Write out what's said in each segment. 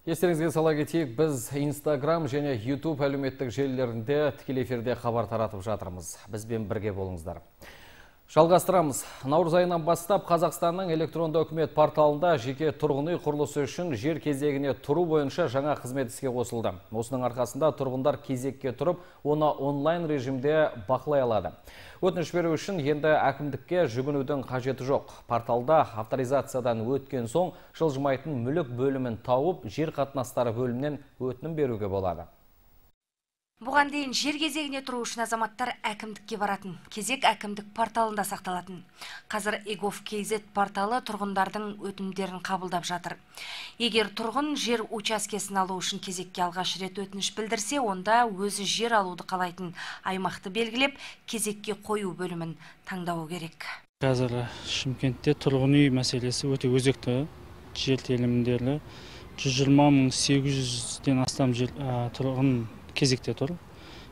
Естеріңізге сала кетейік, біз Instagram және YouTube әлеуметтік желілерінде тікелей эфирде хабар таратып жатырмыз. Бізбен бірге болыңыздар. Жалғастырамыз. Наурыз айынан бастап Қазақстанның электронды үкімет порталында жеке тұрғын үй құрылысы үшін жер кезегіне тұру бойынша жаңа қызмет іске қосылды. Осының арқасында тұрғындар кезекке тұрып, оны онлайн режимде бақылай алады. Өтініш беру үшін енді әкімдікке жүгінудің қажеті жоқ. Порталда авторизациядан өткен соң жылжымайтын мүлік бөлімін тауып, жер қатынастары бөлімінен өтінім беруге болады. Бұған дейін жер кезегіне тұру үшін азаматтар әкімдікке баратын. Кезек әкімдік порталында сақталатын. Қазір egov.kz порталы тұрғындардың өтінімдерін қабылдап жатыр. Егер тұрғын жер учаскесін алу үшін кезекке алғаш рет өтініш білдірсе, онда өзі жер алуды қалайтын аймақты белгілеп, кезекке қою бөлімін таңдауы керек. Қазір Шымкентте тұрғын үй мәселесі өте өзекті. Жер телімдері 120.800-ден астам тұрғын кезекте тұр.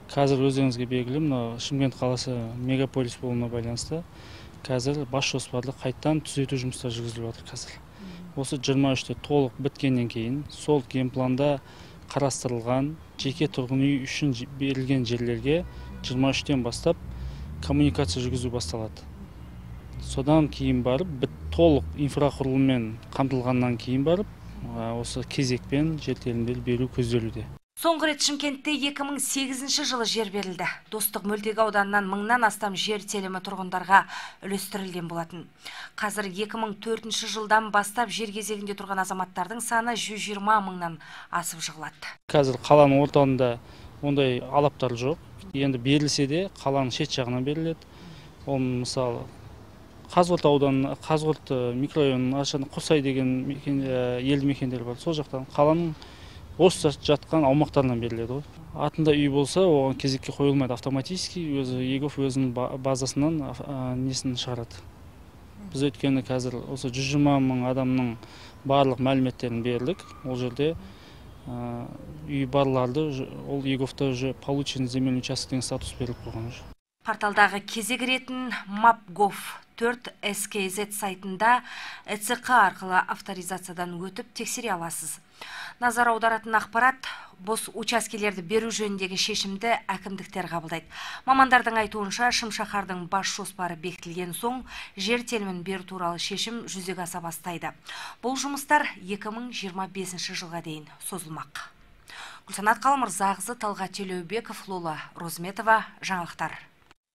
Қазір өздеріңізге белгілі, Шымкент қаласы мегаполис болуына байланысты қазір бас жоспарды қайттан түзету жұмыстары жүргізіліп жатыр қазір. Осы 23-те толық біткеннен кейін сол генпланда қарастырылған жеке тұрғын үй үшін берілген жерлерге 23-тен бастап коммуникация жүргізу басталады. Содан кейін барып, толық инфрақұрылыммен қамтылғаннан кейін барып, осы кезекпен жер телімдер беру көзделуде. Соңғы рет Шымкентте 2008 жылы жер берілді. Достық мөлтек ауданынан 1000-нан астам жер телімі тұрғындарға үлестірілген болатын. Қазір 2004 жылдан бастап жер кезегінде тұрған азаматтардың саны 120 мыңнан асып жығылады. Қазір қаланың орталығында ондай алаптар жоқ. Енді берілсе де қаланың шет жағынан беріледі. Ол мысалы Қазығұрт ауданы, Қазығұрт микрорайонының Құрсай деген елді мекендер бар. Сол жақтан қаланың бос жатқан аумақтарынан беріледі. Атында үй болса, оған кезекке қойылмайды автоматически, өзі egov өзінің базасынан несін шығарады. Біз өткені қазір осы 120 мың адамның барлық мәліметтерін бердік. Ол жерде үй барларды ол egovта уже получен земельный участок деген статус беріліп қойған. Порталдағы кезек ретін mapgov4skz сайтында ЭЦК арқылы авторизациядан өтіп тексере аласыз. Назар аударатын ақпарат, бос учаскелерді беру жөніндегі шешімді әкімдіктер қабылдайды. Мамандардың айтуынша, Шымшаһардың бас жоспары бекітілген соң, жер телімін беру туралы шешім жүзеге аса бастайды. Бұл жұмыстар 2025 жылға дейін созылмақ. Гүлсанат Қалмырзағызы, Талғат Телеубеков, Лола Розметова, жаңалықтар.